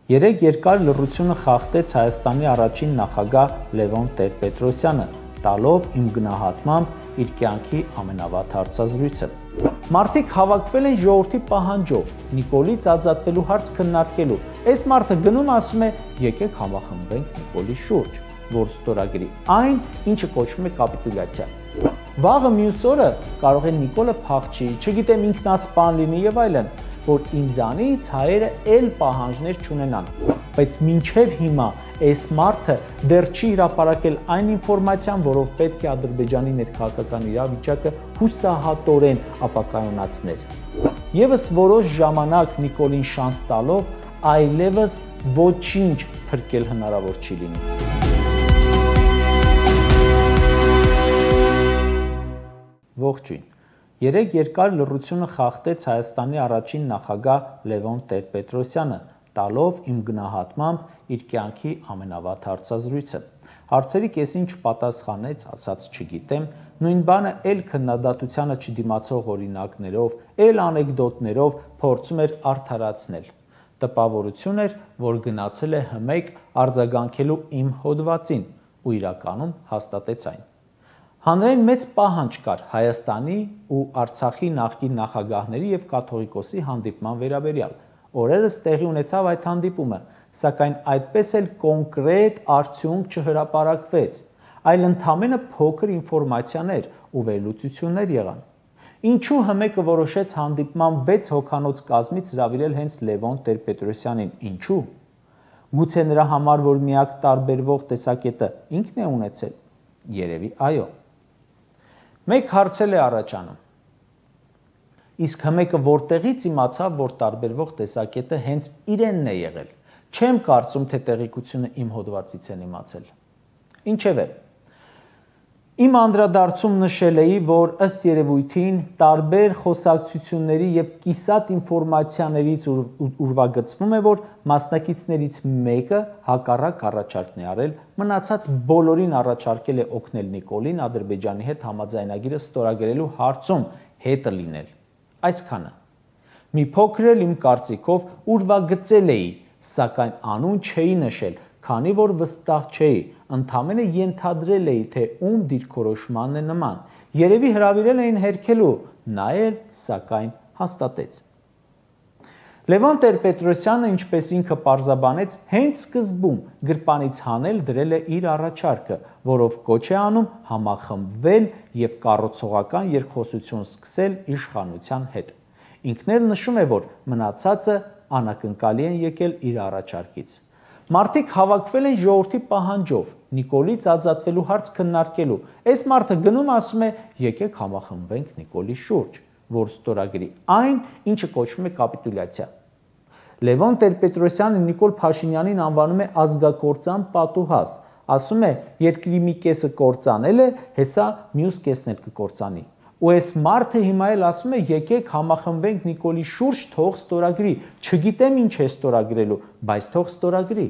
Երեկ երկար լռությունը խախտեց Հայաստանի առաջին նախագահ Լևոն Տեր-Պետրոսյանը, տալով իմ գնահատմամբ իր կյանքի ամենավատ հարցազրույցը։ Մարդիկ հավաքվել են ժողովրդի պահանջով, Նիկոլից ազատվելու հարց քննարկելու։ Այս մարդը գնում ասում է՝ եկեք համախմբենք Նիկոլի շուրջ, որ ստորագրի այն, ինչը կոչվում է կապիտուլյացիա։ Վաղը մյուս օրը կարող է Նիկոլը փախչի, չգիտեմ ինքնասպան լինի եւ այլն, որ ինձանից հայերը էլ պահանջներ չունենան, բայց մինչև հիմա այս մարդը դեռ չի հրապարակել այն ինֆորմացիան, որով պետք է Ադրբեջանի ներքաղաքական իրավիճակը հուսահատորեն ապակայունացներ։ Եվս որոշ ժամանակ Նիկոլին շանս տալով այլևս ոչինչ փրկել հնարավոր չի լինի։ Ողջույն։ Երեկ երկար լռությունը խախտեց Հայաստանի առաջին նախագահ Լևոն Տեր-Պետրոսյանը, տալով իմ գնահատմամբ իր կյանքի ամենավատ հարցազրույցը։ Հարցերի կեսին չպատասխանեց, ասաց չգիտեմ, նույն բանը էլ քննադատությանը չդիմացող օրինակներով, էլ անեկդոտներով փորձում էր արդարացնել։ Տպավորություն էր, որ գնացել է հմեկ արձագանքելու իմ հոդվածին ու իրականում հաստատեց այն։ Հանրային մեծ պահանջ կար Հայաստանի ու Արցախի նախկին նախագահների եւ կաթողիկոսի հանդիպման վերաբերյալ։ Օրերս տեղի ունեցավ այդ հանդիպումը, սակայն այդպես էլ կոնկրետ արդյունք չհրապարակվեց, այլ ընդամենը փոքր ինֆորմացիաներ ու վերլուծություններ եղան։ Ինչու հմեկը որոշեց հանդիպման 6 հոգանոց կազմից հրավիրել հենց Լևոն Տեր-Պետրոսյանին, ինչու։ Գուցե նրա համար, որ միակ տարբերվող տեսակետը ինքն է ունեցել։ Երևի այո։ Մեկ հարցել է առաջանում։ Իսկ հմեկը որտեղից իմացավ, որ տարբերվող տեսակետը հենց իրենն է եղել։ Չեմ կարծում, թե տեղեկությունը իմ հոդվածից են իմացել։ Ինչևէ, իմ անդրադարձում նշել էի, որ ըստ երևույթին տարբեր խոսակցությունների եւ կիսատ ինֆորմացիաներից ուրվագծվում է, որ մասնակիցներից մեկը հակառակ առաջարկն է արել, մնացած բոլորին առաջարկել է օգնել Նիկոլին Ադրբեջանի հետ համաձայնագիրը ստորագրելու հարցում հետը լինել։ Այսքանը։ Մի փոքր էլ իմ կարծիքով ուրվագծել էի, սակայն անուն չէի նշել, քանի որ վստահ չէի, ընդամենը ենթադրել էի, թե ում դիրքորոշմանն է նման։ Երևի հրավիրել էին հերքելու, նա էլ, սակայն, հաստատեց։ Լևոն Տեր-Պետրոսյանը, ինչպես ինքը պարզաբանեց, հենց սկզբում գրպանից հանել դրել է իր առաջարկը, որով կոչ է անում համախմբվել եւ կառուցողական երկխոսություն սկսել իշխանության հետ։ Ինքն էլ նշում է, որ մնացածը անակնկալի են եկել իր առաջարկից։ Մարդիկ հավաքվել են ժողովրդի պահանջով, Նիկոլից ազատվելու հարց քննարկելու։ Այս մարդը գնում ասում է՝ եկեք համախմբենք Նիկոլի շուրջ, որ ստորագրի այն, ինչը կոչվում է կապիտուլյացիա։ Լևոն Տեր-Պետրոսյանը Նիկոլ Փաշինյանին անվանում է ազգակործան պատուհաս, ասում է՝ երկրի մի կեսը կործանել է, հեսա մյուս կեսն էլ կկործանի։ Ու այս մարդը հիմա էլ ասում է՝ եկեք համախմբենք Նիկոլի շուրջ, թող ստորագրի։ Չգիտեմ ինչ է ստորագրելու, բայց թող ստորագրի։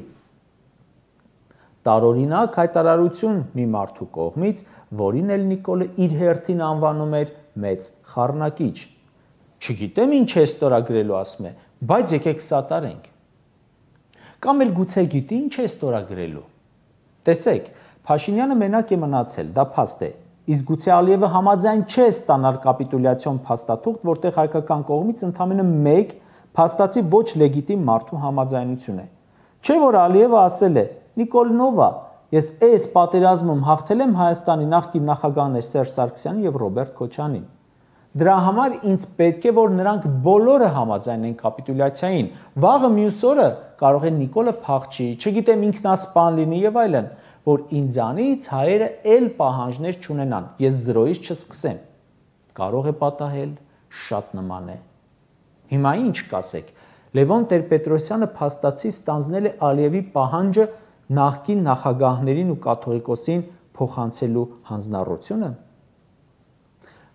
Տարօրինակ հայտարարություն մի մարդու կողմից, որին էլ Նիկոլը իր հերթին անվանում էր մեծ խառնակիչ։ Չգիտեմ ինչ է ստորագրելու, ասում է, բայց եկեք սատարենք։ Կամ էլ գուցե գիտի ինչ է ստորագրելու։ Տեսեք, Փաշինյանը մենակ է մնացել, դա փաստ է։ Իսկ գուցե Ալիևը համաձայն չէ ստանալ կապիտուլյացիոն փաստաթուղթ, որտեղ հայկական կողմից ընդամենը մեկ փաստացի ոչ լեգիտիմ մարդու համաձայնություն է։ Չէ՞ որ Ալիևը ասել է. Նիկոլնովա, ես այս պատերազմում հաղթել եմ Հայաստանի նախկին նախագահներ Սերժ Սարգսյանին եւ Ռոբերտ Քոչարյանին։ Դրա համար ինձ պետք է, որ նրանք բոլորը համաձայնեն կապիտուլյացիային։ Վաղը մյուս օրը կարող է Նիկոլը փախչի, չգիտեմ ինքնասպան լինի եւ այլն, որ ինձանից հայերը էլ պահանջներ չունենան, ես զրոյից չսկսեմ։ Կարող է պատահել, շատ նման է։ Հիմա ինչ կասեք։ Լևոն Տեր-Պետրոսյանը փաստացի ստանձնել է Ալիևի պահանջը նախկին նախագահներին ու կաթողիկոսին փոխանցելու հանձնառությունը։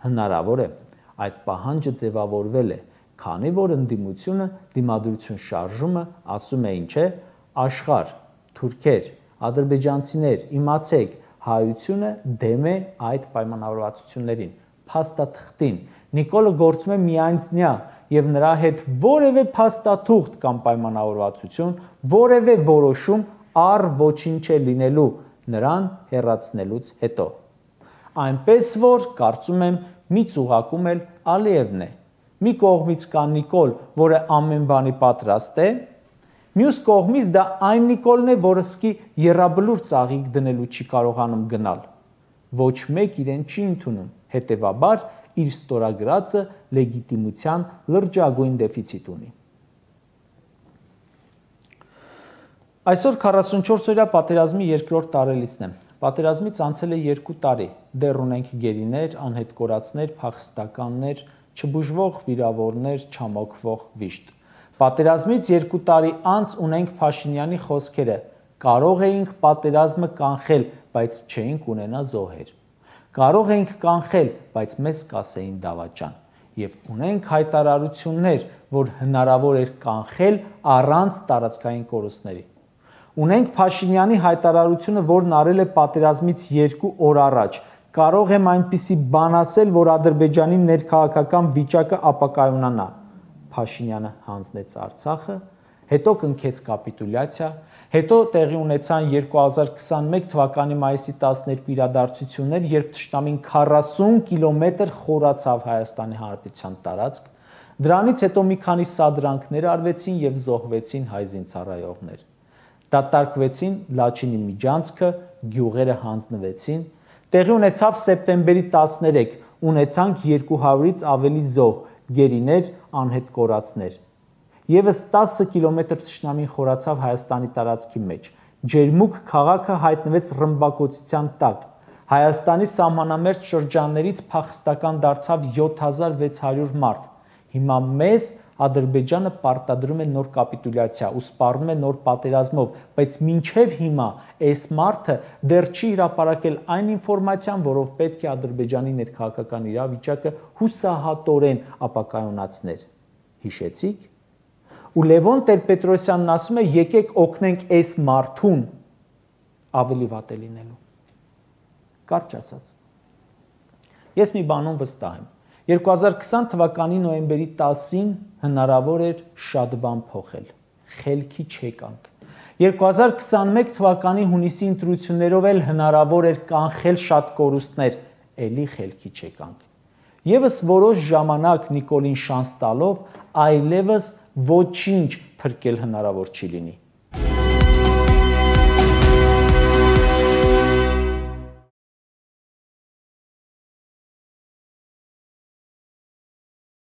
Հնարավոր է, այդ պահանջը ձևավորվել է, քանի որ ընդդիմությունը դիմադրություն շարժումը ասում է ինչ է, աշխարհ, թուրքեր, ադրբեջանցիներ, իմացեք, հայությունը դեմ է այդ պայմանավորվածություններին, փաստաթղթին, Նիկոլը գործում է միայնձնյա եւ նրա հետ որևէ փաստաթուղթ կամ պայմանավորվածություն, որևէ որոշում առ ոչինչ է լինելու նրան հեռացնելուց հետո։ Այնպես որ կարծում եմ մի ծուղակում էլ Ալիևն է։ Մի կողմից կա Նիկոլ, որը ամեն բանի պատրաստ է, մյուս կողմից դա այն Նիկոլն է, որը սկի եռաբլուր ծաղիկ դնելու չի կարողանում գնալ։ Ոչ մեկ իրեն չի ընդունում, հետևաբար իր ստորագրածը լեգիտիմության լրջագույն դեֆիցիտ ունի։ Այսօր 44-օրյա պատերազմի երկրորդ տարելիցն է։ Պատերազմից անցել է 2 տարի, դեռ ունենք գերիներ, անհետ կորածներ, փախստականներ, չբուժվող վիրավորներ, չամոքվող վիշտ։ Պատերազմից 2 տարի անց ունենք Փաշինյանի խոսքերը. կարող էինք պատերազմը կանխել, բայց չէինք ունենա զոհեր։ Կարող էինք կանխել, բայց մեզ կասեին դավաճան։ Եվ ունենք հայտարարություններ, որ հնարավոր էր կանխել առանց տարածքային կորուստների։ Ունենք Փաշինյանի հայտարարությունը, որն արել է պատերազմից 2 օր առաջ։ Կարող եմ այնպիսի բան ասել, որ Ադրբեջանի ներքաղաքական վիճակը ապակայունանա։ Փաշինյանը հանձնեց Արցախը, հետո կնքեց կապիտուլյացիա, հետո տեղի ունեցան 2021 թվականի մայիսի 12 իրադարձություններ, երբ թշնամին 40 կիլոմետր խորացավ Հայաստանի Հանրապետության տարածք, դրանից հետո մի քանի սադրանքներ արվեցին եւ զոհվեցին հայ զինծառայողներ։ Դատարկվեցին Լաչինի միջանցքը, գյուղերը հանձնվեցին, տեղի ունեցավ սեպտեմբերի 13, ունեցանք 200-ից ավելի զոհ, գերիներ, անհետ կորածներ։ Եվս 10 կիլոմետր թշնամին խորացավ Հայաստանի տարածքի մեջ։ Ջերմուկ քաղաքը հայտնվեց ռմբակոծության տակ։ Հայաստանի սահմանամերձ շրջաններից փախստական դարձավ 7600 մարդ։ Հիմա մեզ Ադրբեջանը պարտադրում է նոր կապիտուլյացիա ու սպառնում է նոր պատերազմով, բայց մինչև հիմա այս մարդը դեռ չի հրապարակել այն ինֆորմացիան, որով պետք է Ադրբեջանի ներքաղաքական իրավիճակը հուսահատորեն ապակայունացներ։ Հիշեցիք։ Ու Լևոն Տեր-Պետրոսյանն ասում է, եկեք օգնենք այս մարդուն ավելի վատ է լինելու։ Կարճ ասած։ Ես մի բանում վստահ եմ։ 2020 թվականի նոյեմբերի 10-ին հնարավոր էր շատ բան փոխել։ Խելքի չեկանք։ 2021 թվականի հունիսի ընտրություններով էլ հնարավոր էր կանխել շատ կորուստներ, էլի խելքի չեկանք։ Եվս որոշ ժամանակ Նիկոլին շանս տալով այլևս ոչինչ փրկել հնարավոր չի լինի։